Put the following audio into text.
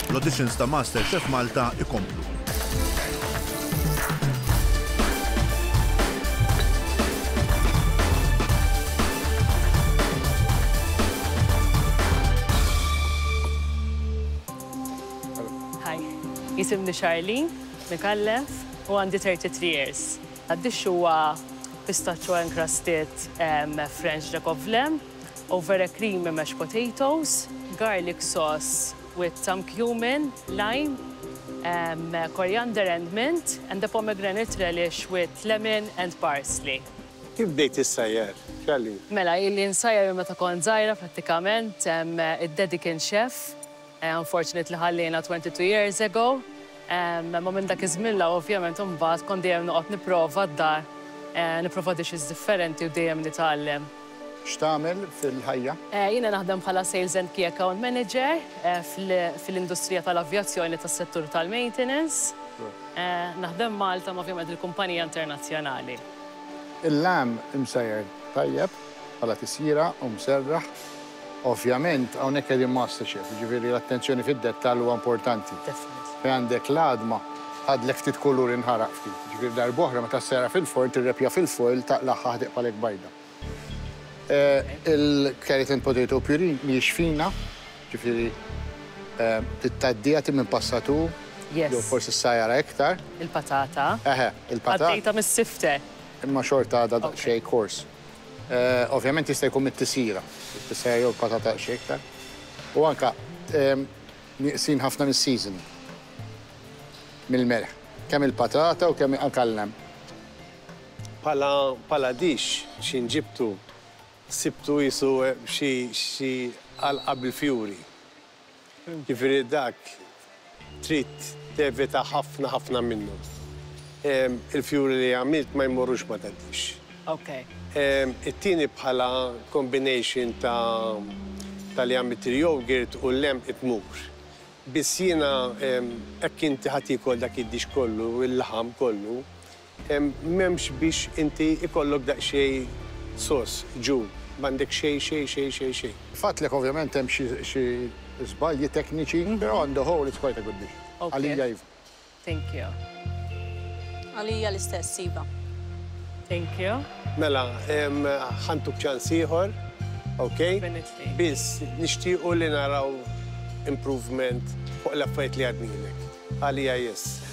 L-auditions ta' MasterChef Malta ikomplu. Hi, jisimni Charlene Micallef u għandi 33 years. Għad-dixx huwa pistachio encrusted French rack of lamb over a creamy mashed potatoes, garlic sauce with some cumin, lime, coriander and mint and a pomegranate relish with lemon and parsley. Kif bdejt issajjar, Charlene? Mela, ili nsajjar minn meta kont żgħira prattikament, id-daddy kien chef, Unfortunately ħalliena 22 years ago. Imma minn dak iż-żmien 'l hawn ovvjament imbagħad kont dejjem noqgħod nipprova d-dar, nipprova dishes differenti u dejjem nitgħallem. X'tagħmel fil-ħajja? Jiena naħdem bħala Sales and Key Account Manager fl-industrija tal-avjazzjoni tas-settur tal-maintenance. Naħdem Malta imma ovvjament il-kumpanija internazzjonali. Il-lamb imsajjar tajjeb bħala tisjira u mserraħ. Ovvjament, hawnhekk qegħdin MasterChef, jiġifieri l-attenzjoni fid-dettall huwa importanti. Fejn għandek l-għadma, ħadlek ftit kulur inħaraq ftit. Jiġifieri darb'oħra meta ssejra fil-forn tirrepja fil-foil taqlagħha ħtiqbalek bajda. Il-carrot and potato puree mhijiex fina, jiġifieri trid tgħaddiha ti minn passatur jew forsi ssajjarha iktar. Il-patata. Eħe, il-patata. Għaddejtha mis-sifter. Imma xorta għadha daqsxejn coarse. Ovvjament jista' jkun mit-tisjira, it-tisjira jew il-patata daqsxejn iktar. U anke nieqsin ħafna mis-seasoning, mill-melħ. Kemm il-patata u kemm anke l-lamb. Bħala bħala dish x'in ġibtu sibtu qisu xi xi għalqa bil-fjuri. Jiġifieri dak trid tevita ħafna ħafna minnu. Il-fjuri li għamilt ma jmorrux ma tgħaddix. It-tieni bħala combination ta' ta' li għamilt il-yogurt u l-lamb tmur. Biss jiena hekk inti ħa tiekol dak id-dish kollu, il-laħam kollu, M'hemmx biex inti ikollok daqsxejn sos, ġu, m'għandek xejn, xejn, xejn, xejn, xejn. Fatlek ovvjament hemm xi xi żbalji tekniċi, però on the whole it's quite a good dish. Għalija iva. Thank you. Għalija l-istess, iva. Thank you. Mela, ħa ntuk ċans ieħor, ok? Definitely. Biss nixtiequ li naraw improvement fuq l-affarijiet li għadnilek. Għalija yes.